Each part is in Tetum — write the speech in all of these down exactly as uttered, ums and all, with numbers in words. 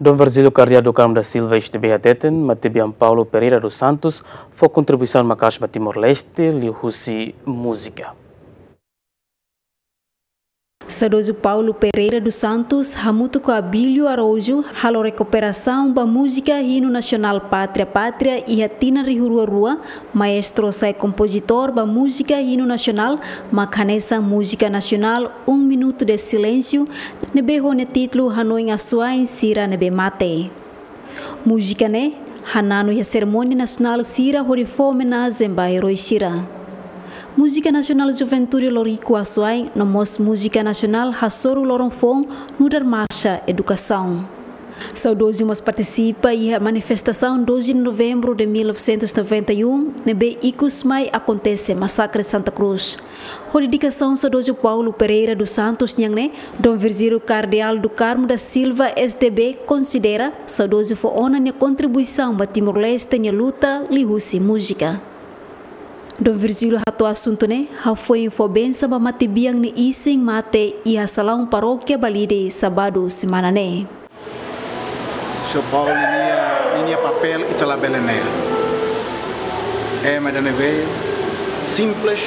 Dom Virgílio Cardeal do Carmo da Silva S D B hateten, matebian Paulo Pereira dos Santos fó kontribuisaun maka'as ba Timor-Leste liuhusi múzika. Saudozu Paulo Pereira dos Santos hamutuk ho Abílio Araújo halo rekuperasaun ba múzika hinu nasionál Pátria Pátria iha tinan rihun rua rua. Maestru sai kompozitór ba múzika hinu nasionál, mak hanesan múzika nasionál Um Minuto de Silêncio, ne'ebé ho nia títulu Hanoin Asuwa'in Sira Ne'ebé Mate. Múzika ne'e hananu iha serimónia nasionál sira hodi fó omenajen ba erói sira. Múzika nasionál Juventude Loriku Asuwa'in no mós múzika nasionál Hasoru Loron Foun nu'udar marxa edukasaun. Saudozu mós partisipa iha manifestasaun doze de novembro de mil novecentos e noventa e um, ne'ebé ikus mai akontese masakre Santa Cruz. Ho dedikasaun saudozu Paulo Pereira dos Santos nian ne'e, Dom Virgílio Cardeal do Carmo da Silva S D B konsidera saudozu fó ona nia kontribuisaun ba Timor-Leste nia luta liuhusi múzika. Dom Virgílio hato'o asuntu ne'e hafoin fó bensaun ba matebian nia isin mate iha salaun parókia Balide, sábadu semana ne'e. Señór Paulo ninia, ninia papél ita labele ne'e. Ema ida ne'ebé simples,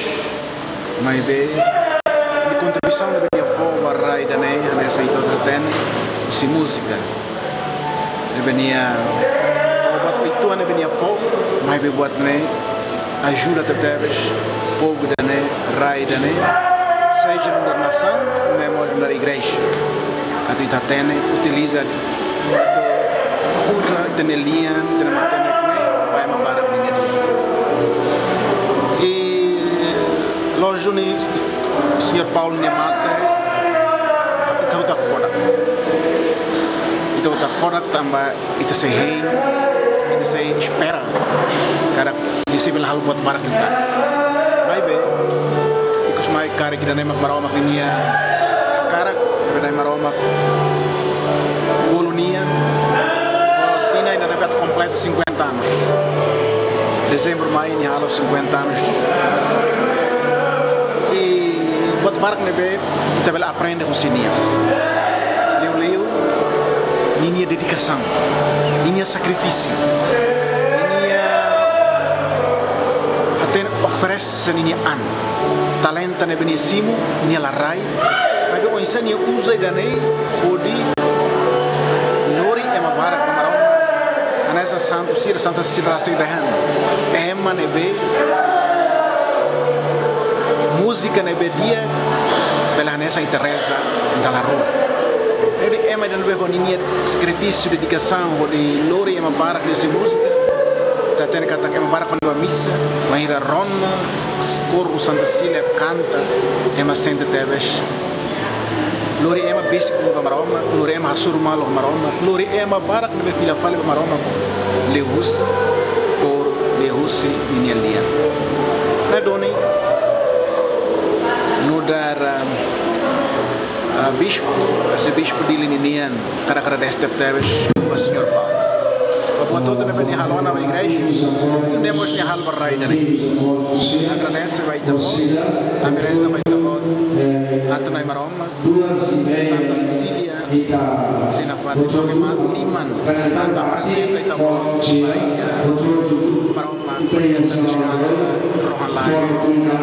maibé nia kontribuisaun ne'ebé nia fó ba rai ida-ne'e, hanesan ita hotu hatene, husi múzika. Ne'ebé nia, buat oituan ne'ebé nia fó, maibé buat ne'e ajuda tebetebes povu ida-ne'e, rai ida-ne'e, seja nu'udar nasaun, no mós nu'udar igreja. Atu ita hatene, utiliza, atu uza ita-nia lian, ita-nia matenek ne'e ba ema barak ninia lian. I lójiku ne'e, señór Paulo nia mate, ita hotu hakfodak. Ita hotu hakfodak tanba ita sei hein, ita sei espera katak nia sei bele halo buat barak liután. Maibé, ikus mai karik ida-ne'e mak Maromak ninia hakarak, ida-ne'e Maromak bolu nia, ho tinan ida-ne'ebé atu kompleta cinquenta anos. Dezembru mai nia halo cinquenta anos. I buat barak ne'ebé ita bele aprende husi nia. Liuliu ninia dedikasaun, ninia sakrifísiu, ninia hatene oferese ninia an. Talenta ne'ebé nia simu, nia la rai. Maibé oinsá nia uza ida-ne'e hodi lori ema barak ba Maromak. Hanesan santu sira, Santa Cecília rasik dehan. Ema ne'ebé múzika ne'ebé di'ak, bele hanesan ita reza dala rua. Jadi ema ida ne'ebé ho ninia sakrifísiu, dedikasaun, hodi lori ema barak liuhusi múzika. Ita hatene katak ema barak kuandu bá misa, bainhira rona, kóru Santa Cecília kanta, ema sente tebes. Lori ema besik ba Maromak, lori ema hasoru malu Maromak, lori ema barak ne'ebé fila fali ba Maromak, liuhusi, por liuhusi ninia lian. Ne'e duni, nu'udar, ah, ah, bispu, arsebispu Dili ninian, hakarak agradese tebetebes ba señór Paulo. Ba buat hotu ne'ebé nia halo ona ba igreja, nune'e mós nia halo ba rai ida-ne'e. Agradese ba ita-boot, ami reza ba ita-boot, atu Nai Maromak, Santa Cecília, sira nafatin loke mak liman, atu aprezenta ita-boot ba iha Maromak, hodi ita deskansa rohan-laek iha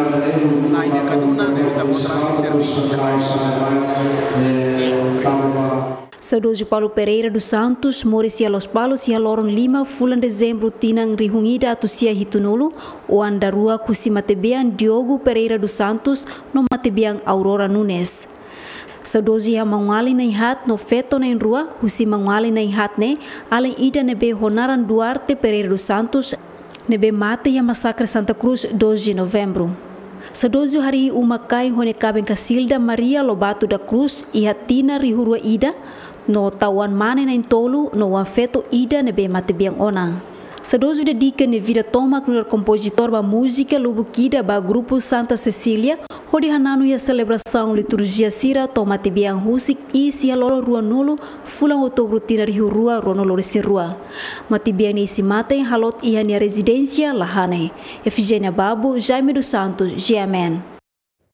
Nai nia kaduna, ne'ebé ita-boot rasik serví iha rai. Saudozu Paulo Pereira dos Santos moris iha Lospalos iha loron lima fulan Dezembru tinan rihun ida atus sia hitunulu, oan daruak husi matebian Diogo Pereira dos Santos no matebian Aurora Nunes. Saudozu iha maun-alin na'in-haat no feto na'in-rua, husi maun-alin na'in-haat ne'e, alin ida ne'ebé ho naran Duarte Pereira dos Santos, ne'ebé mate iha masakre Santa Cruz doze de Novembro. Saudozu harii uma-kain ho nia kaben Casilda Maria Lobato da Cruz iha tinan rihun rua ida, no tau oan-mane na'in-tolu no oan-feto ida ne'ebé matebian ona. Saudozu dedika nia vida tomak nu'udar kompozitór ba múzika lubuk ida ba grupu Santa Cecília, hodi hananu iha selebrasaun liturjia sira to'o matebian husik iis iha loron ruanulu fulan Outubru tinan rihun rua ruanulu resin rua. Matebian nia isin-mate haloot iha nia rezidénsia Lahane. Efigénia Babo, Jaime dos Santos, G M N.